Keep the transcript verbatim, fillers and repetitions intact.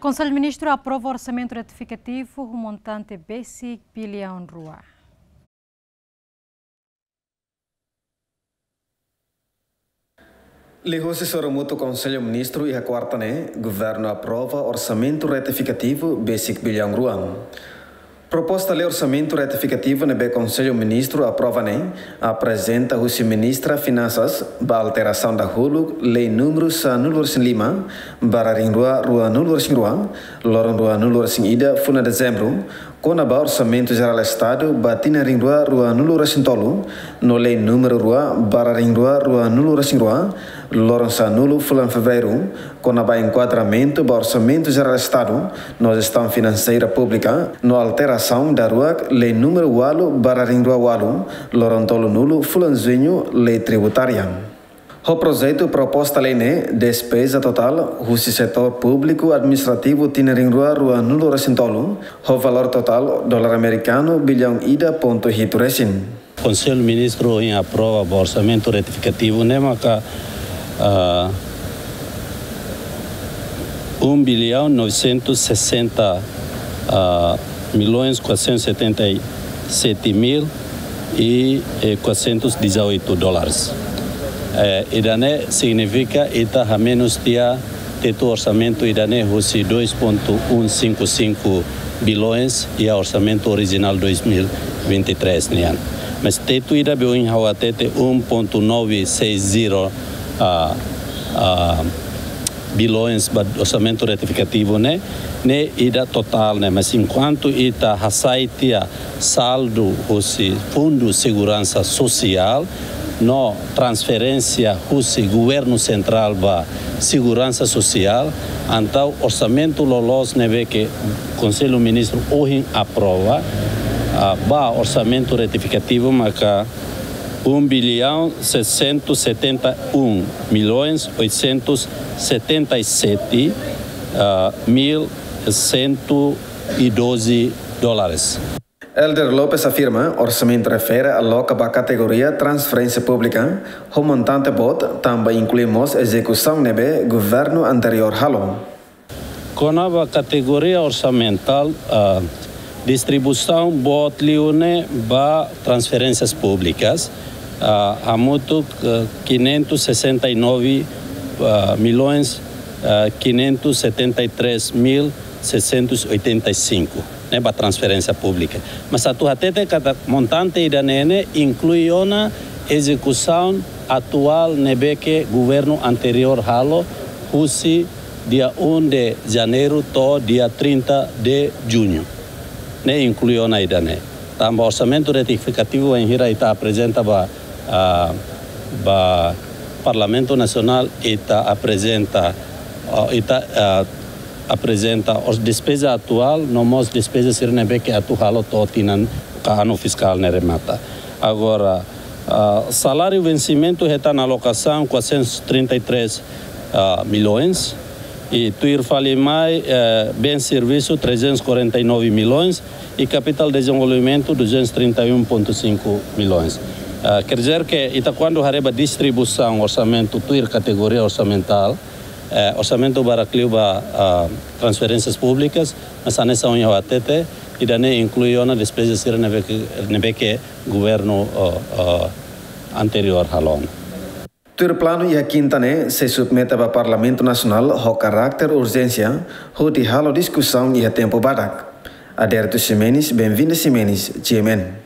Konsellu Ministru aprova orsamentu retifikativu ho montante besik biliaun rua. Liuhusi sorumutu Konsellu Ministru iha kuarta ne'e, Governu aprova orsamentu retifikativu besik biliaun rua. Proposta lei orsamentu retifikativu ne'ebé Konsellu Ministru aprova ne'e aprezenta husi Ministra Finansas ba alterasaun dahuluk lei númeru sanulu-resin-lima barra rihun rua ruanulu-resin-rua, loron ruanulu-resin-ida fulan Dezembru, kona-ba Orsamentu Jerál Estadu ba tinan rihun rua ruanulu-resin-tolu, no lei númeru rua barra rihun rua ruanulu-resin-rua, loron sanulu fulan Fevereiru, kona-ba enkuadramentu ba Orsamentu Jerál Estadu no jestaun finanseira públika, no alterasaun daruak lei númeru ualu barra rihun rua ualu, loron tolunulu fulan Juñu, lei tributária. Ho projetu proposta lei ne'e, despeza totál husi setór públiku administrativu tinan rihun rua ruanulu-resin-tolu, ho valór totál dolar amerikanu biliaun ida pontu hitu resin. Konsellu Ministru ohin aprova ba orsamentu retifikativu ne'e maka, ah, um bilhão novecentos e sessenta, ah, milhões quatrocentos e setenta e sete mil e, eh, quatrocentos e dezoito dólares. Eh, ida-ne'e signifika ita hamenus tiha tetu orsamentu ida-ne'e husi dois ponto um cinco cinco bilhões iha orsamentu orijinál dois mil e vinte e três nian. Mas tetu ida be ohin ha'u hatete um ponto nove seis zero, ah, ah, bilhões ba orsamentu retifikativu ne'e, ne'e ida totál ne'e, mas enkuantu ita hasai tiha saldu husi Fundu Seguransa Sosiál no transferénsia husi Governu Sentrál ba Seguransa Sosiál, entaun orsamentu loloos ne'ebé ke Konsellu Ministru ohin aprova, ah, ba orsamentu retifikativu maka um bilhão seiscentos e setenta e um milhões oitocentos e setenta e sete, ah, mil cento e doze dólares. Helder Lopes afirma, orsamentu refere aloka ba kategoria transferénsia públika, ho montante boot, tanba inklui mós ezekusaun ne'ebé governu anteriór halo. Kona-ba kategoria orsamentál, ah, distribuisaun boot liu ne'e ba transferénsias públikas, ah, hamutuk, ah, quinhentos e sessenta e nove, ah, milhões, ah, quinhentos e setenta e três mil seiscentos e oitenta e cinco, ne'e ba transferénsia públika. Mas atu hatete katak montante ida-ne'e ne'e inklui ona ezekusaun atuál ne'ebé ke governu anteriór halo husi dia um de Janeiro to'o dia trinta de Junho. Ne'e inklui ona ida-ne'e. Tanba orsamentu retifikativu bainhira ita aprezenta ba, ah, ba Parlamentu Nasionál, ita aprezenta, ah, ita, ah, aprezenta os despeza atuál, no mós despeza sira ne'ebé ke atu halo to'o tinan ka anu fiskál ne'e remata. Agora, ah, saláriu vensimentu hetan alokasaun quatrocentos e trinta e três, ah, milhões, i tuir fali mai, eh, bens servisu trezentos e quarenta e nove milhões, i kapitál dezenvolvimentu duzentos e trinta e um ponto cinco milhões. Ah, quer dizer que ita kuandu haree ba distribuisaun orsamentu tuir kategoria orsamentál, eh, orsamentu barak liu ba, ah, transferénsias públikas, mas hanesan ohin ha'u hatete, ida-ne'e inklui ona despeza sira ne'ebé ke, ne'ebé ke governu, ah, ah, anteriór halo ona. Tuir planu iha kinta ne'e sei submete ba Parlamentu Nasionál ho karáter urjénsia, hodi halo diskusaun iha tempu badak. Adérito Ximenes, Benvinda Ximenes, G M N.